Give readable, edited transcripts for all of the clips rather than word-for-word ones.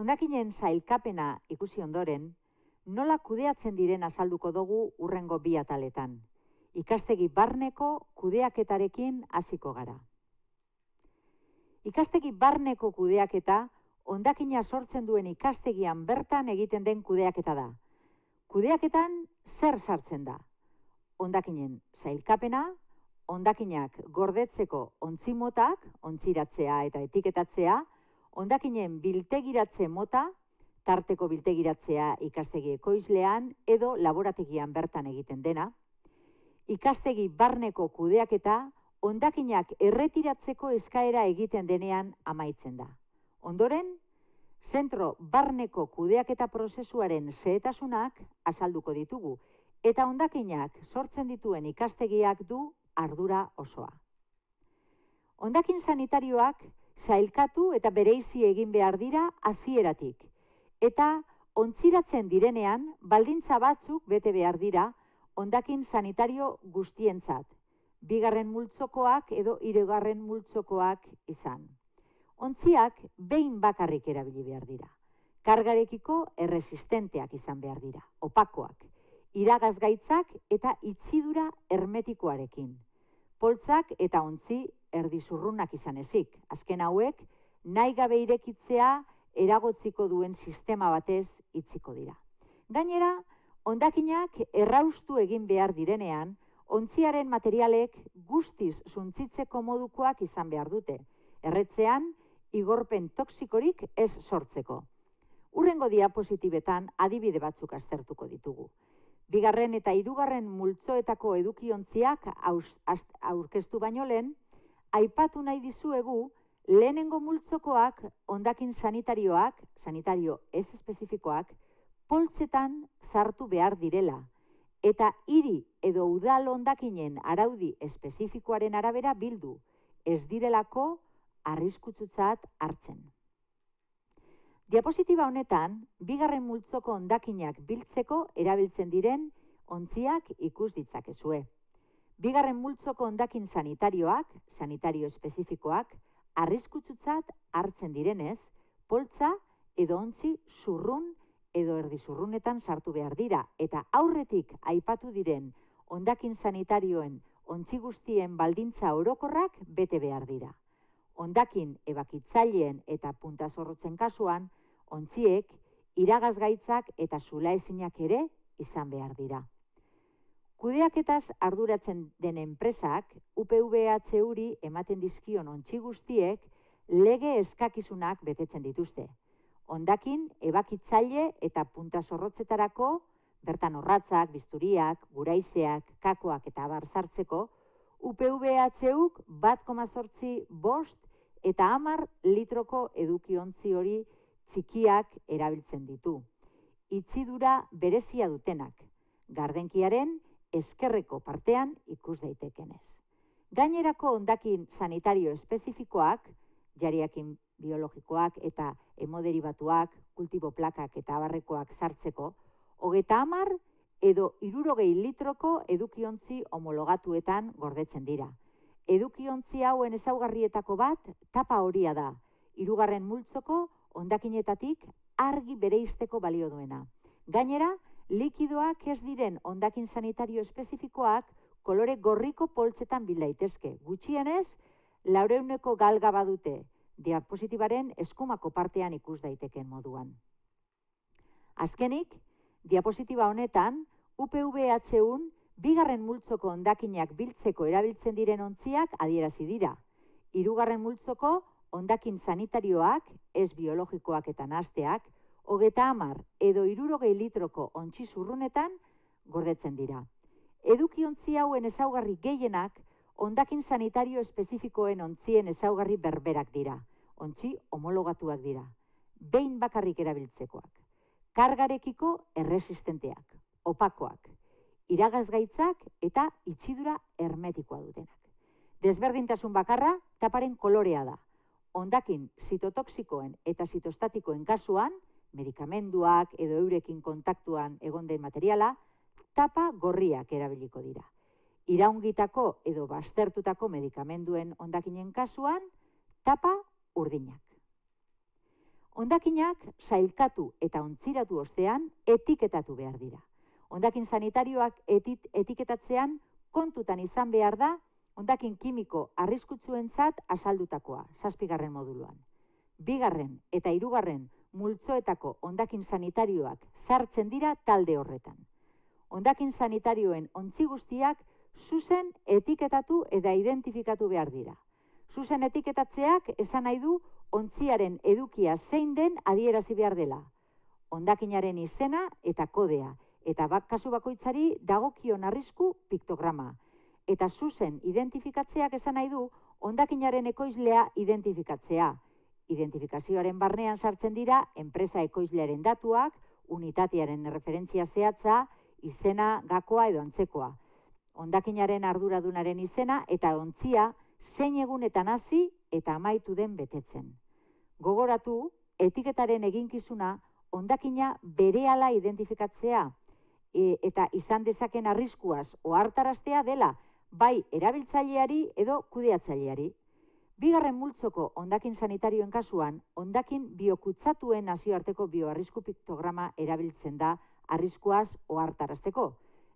Hondakinen sailkapena ikusi ondoren, nola kudeatzen diren azalduko dugu hurrengo bi ataletan. Ikastegi barneko kudeaketarekin hasiko gara. Ikastegi barneko kudeaketa, hondakina sortzen duen ikastegian bertan egiten den kudeaketa da. Kudeaketan zer sartzen da? Hondakinen sailkapena, hondakinak gordetzeko ontzimotak, ontziratzea eta etiketatzea, hondakinen biltegiratze mota, tarteko biltegiratzea ikastegi ekoizlean edo laborategian bertan egiten dena, ikastegi barneko kudeaketa, hondakinak erretiratzeko eskaera egiten denean amaitzen da. Ondoren, zentro barneko kudeaketa prozesuaren xehetasunak azalduko ditugu, eta hondakinak sortzen dituen ikastegiak du ardura osoa. Hondakin sanitarioak sailkatu eta bereizi egin behar dira hasieratik, eta ontziratzen direnean baldintza batzuk bete behar dira hondakin sanitario guztientzat, bigarren multzokoak edo hirugarren multzokoak izan. Ontziak behin bakarrik erabili behar dira. Kargarekiko erresistenteak izan behar dira, opakoak, iragazgaitzak eta itzidura hermetikoarekin. Poltzak eta ontzi erdizurrunak izan ezik. Azken hauek, nahi gabe irekitzea eragotziko duen sistema batez itziko dira. Gainera, hondakinak erraustu egin behar direnean, ontziaren materialek guztiz zuntzitzeko modukoak izan behar dute. Erretzean, igorpen toxikorik ez sortzeko. Hurrengo diapositibetan adibide batzuk aztertuko ditugu. Bigarren eta hirugarren multzoetako edukiontziak aurkeztu baino lehen, aipatu nahi dizuegu lehenengo multzokoak hondakin sanitarioak, sanitario ez espezifikoak, poltzetan sartu behar direla, eta hiri edo udal hondakinen araudi espezifikoaren arabera bildu, ez direlako arriskutsutzat hartzen. Diapositiba honetan, bigarren multzoko hondakinak biltzeko erabiltzen diren ontziak ikus ditzakezue. Bigarren multzoko hondakin sanitarioak, sanitario espezifikoak, arriskutsutzat hartzen direnez, poltza edo ontzi zurrun edo erdizurrunetan sartu behar dira, eta aurretik aipatu diren hondakin sanitarioen ontzi guztien baldintza orokorrak bete behar dira. Hondakin ebakitzaileen eta puntazorrotzen kasuan, ontziek, iragazgaitzak eta zulaezinak ere izan behar dira. Kudeaketaz arduratzen den enpresak, UPVHUri ematen dizkion ontzi guztiek, lege eskakizunak betetzen dituzte. Hondakin, ebakitzaile eta puntazorrotzetarako, bertan orratzak, bisturiak, guraizeak, kakoak eta abar sartzeko, UPVHUk 1,8 eta 10 litroko edukiontzi hori txikiak erabiltzen ditu. Itzidura berezia dutenak, gardenkiaren eskerreko partean ikus daitekenez. Gainerako hondakin sanitario espezifikoak, jariakin biologikoak eta hemoderibatuak, kultibo plakak eta abarrekoak sartzeko, 30 edo 60 litroko edukiontzi homologatuetan gordetzen dira. Edukiontzi hauen ezaugarrietako bat tapa horia da, 3. multzoko hondakinetatik argi bereizteko balio duena. Gainera, likidoak ez diren hondakin sanitario espezifikoak kolore gorriko poltzetan bil daitezke. Gutxienez, 400 galga badute, diapositibaren eskumako partean ikus daiteken moduan. Azkenik, diapositiba honetan, UPVHUn bigarren multzoko hondakinak biltzeko erabiltzen diren ontziak adierazi dira. 3. multzoko hondakin sanitarioak, ez biologikoak eta nahasteak, 30 edo 60 litroko ontzi zurrunetan gordetzen dira. Edukiontzi hauen ezaugarri gehienak hondakin sanitario espezifikoen ontzien ezaugarri berberak dira. Ontzi homologatuak dira. Behin bakarrik erabiltzekoak. Kargarekiko erresistenteak, opakoak, iragazgaitzak eta itzidura hermetikoa dutenak. Desberdintasun bakarra taparen kolorea da. Hondakin zitotoxikoen eta zitostatikoen kasuan, medikamenduak edo eurekin kontaktuan egon den materiala, tapa gorriak erabiliko dira. Iraungitako edo baztertutako medikamenduen hondakinen kasuan, tapa urdinak. Hondakinak sailkatu eta ontziratu ostean etiketatu behar dira. Hondakin sanitarioak etiketatzean kontutan izan behar da hondakin kimiko arriskutsuentzat asaldutakoa, 7. moduluan. 2. eta 3. multzoetako hondakin sanitarioak sartzen dira talde horretan. Hondakin sanitarioen ontzi guztiak zuzen etiketatu eta identifikatu behar dira. Zuzen etiketatzeak esan nahi du ontziaren edukia zein den adierazi behar dela. Hondakinaren izena eta kodea, eta kasu bakoitzari dagokion arrisku piktograma. Eta zuzen identifikatzeak esan nahi du hondakinaren ekoizlea identifikatzea. Identifikazioaren barnean sartzen dira enpresa ekoizlearen datuak, unitatearen referentzia zehatza, izena, gakoa edo antzekoa. Hondakinaren arduradunaren izena eta ontzia zein egunetan hasi eta amaitu den betetzen. Gogoratu, etiketaren eginkizuna hondakina berehala identifikatzea eta izan dezaken arriskuaz ohartaraztea dela bai erabiltzaileari edo kudeatzaileari. 2. multzoko hondakin sanitarioen kasuan, hondakin biokutsatuen nazioarteko bioarrisku piktograma erabiltzen da arriskuaz ohartarazteko.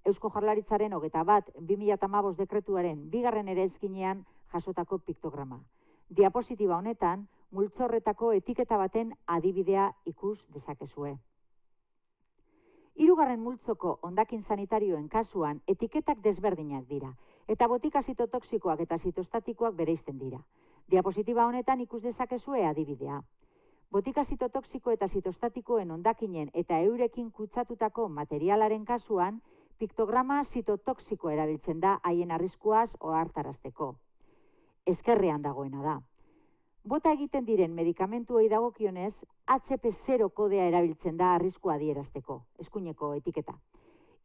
Eusko Jaurlaritzaren 21/2015 dekretuaren 2. eraizkinean jasotako piktograma. Diapositiba honetan, multzo horretako etiketa baten adibidea ikus dezakezue. 3. multzoko hondakin sanitarioen kasuan etiketak desberdinak dira, eta botika zitotoxikoak eta zitostatikoak bereizten dira. Diapositiba honetan ikus dezakezue adibidea. Botika zitotoxiko eta zitostatikoen hondakinen eta eurekin kutsatutako materialaren kasuan, piktograma zitotoxiko erabiltzen da haien arriskuaz ohartarazteko. Ezkerrean dagoena da. Bota egiten diren medikamentuei dagokionez, HP0 kodea erabiltzen da arriskua adierazteko, eskuineko etiketa.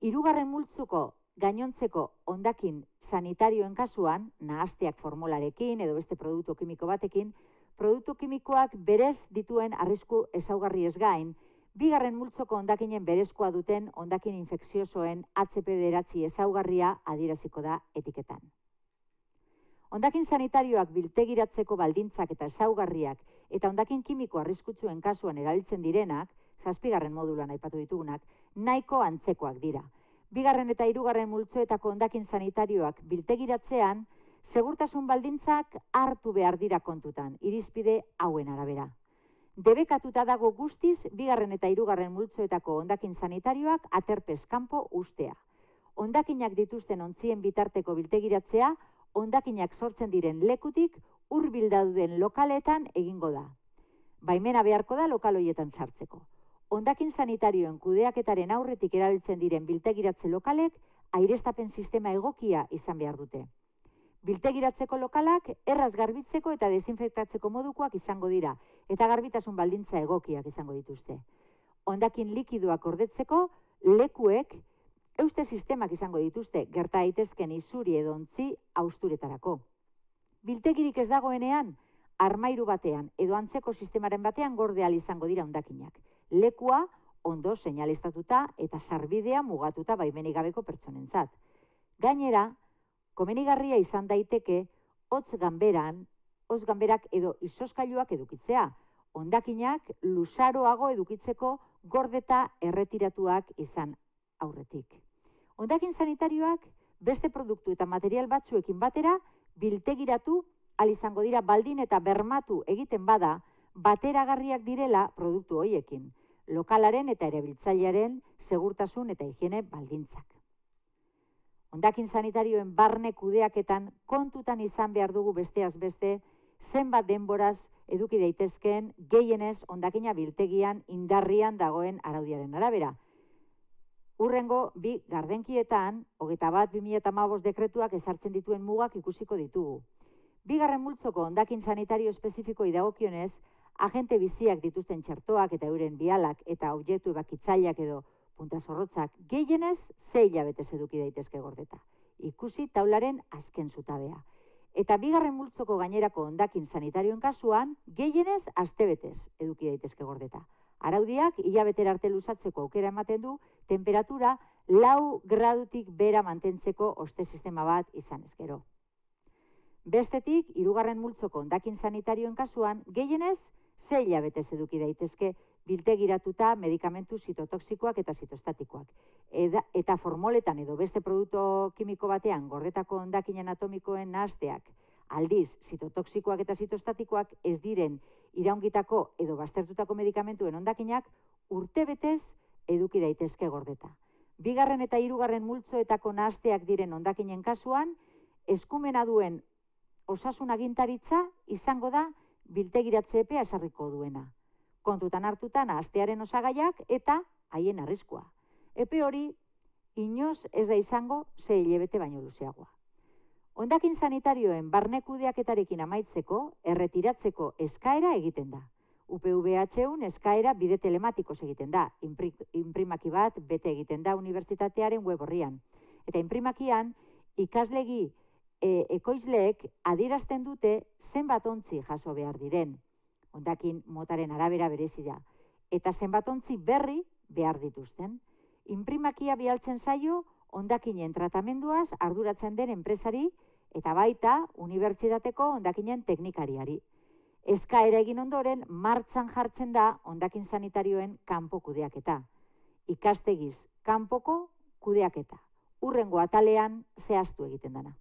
3. multzuko gainontzeko hondakin sanitarioen kasuan, nahasteak formularekin edo beste produktu kimiko batekin, produktu kimikoak berez dituen arrisku ezaugarriez gain, 2. multzoko hondakinen berezkoa duten hondakin infekziosoen HP9 ezaugarria adieraziko da etiketan. Hondakin sanitarioak biltegiratzeko baldintzak eta ezaugarriak eta hondakin kimiko arriskutsuen kasuan erabiltzen direnak, 7. moduluan aipatu ditugunak, nahiko antzekoak dira. 2. eta 3. multzoetako hondakin sanitarioak biltegiratzean, segurtasun baldintzak hartu behar dira kontutan, irizpide hauen arabera. Debekatuta dago guztiz 2. eta 3. multzoetako hondakin sanitarioak aterpez kanpo ustea. Hondakinak dituzten ontzien bitarteko biltegiratzea, hondakinak sortzen diren lekutik hurbil dauden lokaletan egingo da. Baimena beharko da lokal horietan sartzeko. Hondakin sanitarioen kudeaketaren aurretik erabiltzen diren biltegiratze lokalek aireztapen sistema egokia izan behar dute. Biltegiratzeko lokalak erraz garbitzeko eta desinfektatzeko modukoak izango dira, eta garbitasun baldintza egokiak izango dituzte. Hondakin likidoak gordetzeko lekuek euste sistemak izango dituzte, gerta daitezken isuri edo ontzi hausturetarako. Biltegirik ez dagoenean, armairu batean edo antzeko sistemaren batean gorde ahal izango dira hondakinak. Lekua ondo seinaleztatuta eta sarbidea mugatuta baimenik gabeko pertsonentzat. Gainera, komenigarria izan daiteke hotz ganberak edo izoskailuak edukitzea, hondakinak luzaroago edukitzeko gordeta erretiratuak izan aurretik. Hondakin sanitarioak beste produktu eta material batzuekin batera biltegiratu ahal izango dira baldin eta bermatu egiten bada bateragarriak direla produktu horiekin, lokalaren eta erabiltzailearen segurtasun eta higiene baldintzak. Hondakin sanitarioen barne kudeaketan kontutan izan behar dugu besteaz beste, zenbat denboraz eduki daitezkeen gehienez hondakina biltegian indarrian dagoen araudiaren arabera. Hurrengo bi gardenkietan, 21/2015 dekretuak ezartzen dituen mugak ikusiko ditugu. 2. multzoko hondakin sanitario espezifikoei dagokionez, agente biziak dituzten txertoak eta euren bialak eta objektu ebakitzaileak edo punta-zorrotzak gehienez 6 hilabetez eduki daitezke gordeta. Ikusi taularen azken zutabea. Eta 2. multzoko gainerako hondakin sanitarioen kasuan gehienez astebetez eduki daitezke gordeta. Araudiak hilabetera arte luzatzeko aukera ematen du temperatura 4 gradutik bera mantentzeko oste sistema bat izan ezkero. Bestetik, 3. multzoko hondakin sanitarioen kasuan gehienez Ze hilabetez eduki daitezke biltegiratuta medikamentu zitotoxikoak eta zitostatikoak. Eta formoletan edo beste produktu kimiko batean gordetako hondakinen atomikoen nahasteak, aldiz, zitotoxikoak eta zitostatikoak ez diren iraungitako edo baztertutako medikamentuen hondakinak urtebetez eduki daitezke gordeta. Bigarren eta hirugarren multzoetako nahasteak diren hondakinen kasuan, eskumena duen osasun agintaritza izango da biltegiratze epea esarriko duena. Kontutan hartuta nahastearen osagaiak eta haien arriskua. Epe hori inoz ez da izango 6 hilabete baino luzeagoa. Hondakin sanitarioen barne kudeaketarekin amaitzeko, erretiratzeko eskaera egiten da. UPVHUn eskaera bide telematikoz egiten da. Inprimaki bat bete egiten da unibertsitatearen web orrian. Eta inprimakian ikaslegi ekoizleek adierazten dute zenbat ontzi jaso behar diren. Hondakin motaren arabera berezi da. Eta zenbat ontzi berri behar dituzten. Inprimakia bialtzen zaio hondakinen tratamenduaz arduratzen den enpresari eta baita unibertsitateko hondakinen teknikariari. Eskaera egin ondoren martxan jartzen da hondakin sanitarioen kanpo kudeaketa. Ikastegiz kanpoko kudeaketa. Hurrengo atalean zehaztu egiten dena.